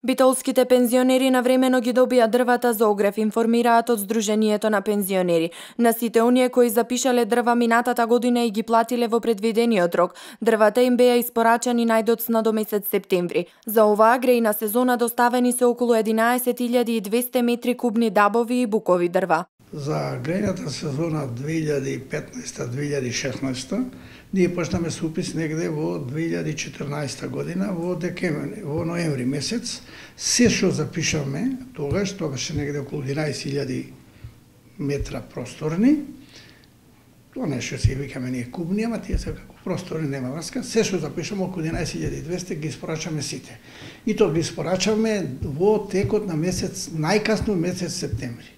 Битолските пензионери навремено ги добија дрвата за огрев, информираат од Сдруженијето на пензионери. На сите оние кои запишале дрва минатата година и ги платиле во предвидениот рок, дрвата им беа испорачани најдоцна до месец септември. За оваа грејна сезона доставени се околу 11.200 метри кубни дабови и букови дрва. За грејната сезона 2015-2016 ние почнаме со упис негде во 2014 година во ноември месец. Се што запишаме тогаш е негде околу 11.000 метра просторни. Тоа нешто се викаме ние кубни, ама тие се како просторни, нема врска. Се што запишаме околу 11.200 ги испорачаме сите. И тоа ги испорачаме во текот на месец, најкасно месец септември.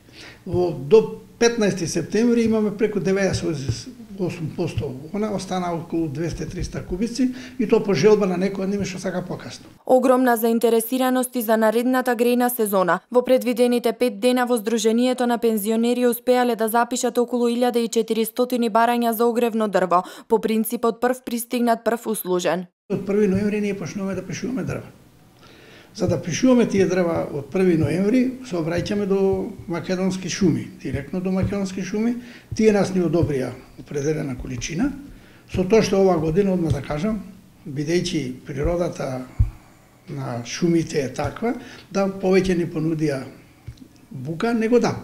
До 15 септември имаме преку 98%, она остана околу 200-300 кубици и тоа по желба на некој од нив што сака покасно. Огромна заинтересираност и за наредната грејна сезона. Во предвидените 5 дена во Сдруженијето на пензионери успеале да запишат околу 1400 барања за огревно дрво, по принципот прв пристигнат прв услужен. Од 1 ноември ние почнуваме да пишуваме дрва. За да пишуваме тие дрва од 1 ноември, се обраќаме до Македонски шуми, директно до Македонски шуми. Тие нас ни одобрија определена количина. Со тоа што оваа година, одма да кажам, бидејќи природата на шумите е таква, да повеќе ни понудија бука, него да.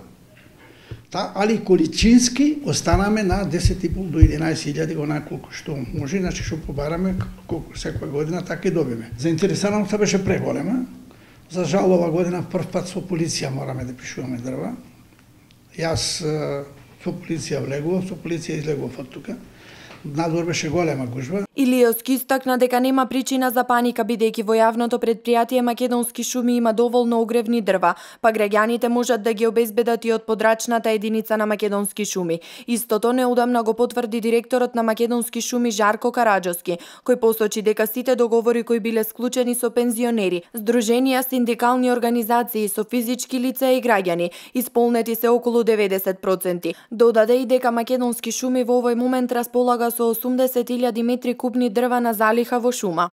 Али количински останаме на 10.500 до 11.000, онаа колку што може, значи што побараме колку секоја година, така и добиме. Заинтересираноста беше преголема. За жал ова година прв пат со полиција мораме да пишуваме дрва. Јас со полиција влегував, со полиција излегував од тука. Надвор беше голема гужва. Илиевски истакна дека нема причина за паника, бидејќи во јавното предпријатие Македонски шуми има доволно огревни дрва, па граѓаните можат да ги обезбедат и од подрачната единица на Македонски шуми. Истото неодамна го потврди директорот на Македонски шуми Жарко Караџовски, кој посочи дека сите договори кои биле склучени со пензионери, здруженија, синдикални организации, со физички лица и граѓани, исполнети се околу 90%. Додаде и дека Македонски шуми во овој момент располага со 80.000 метри кубни дрва на залиха во шума.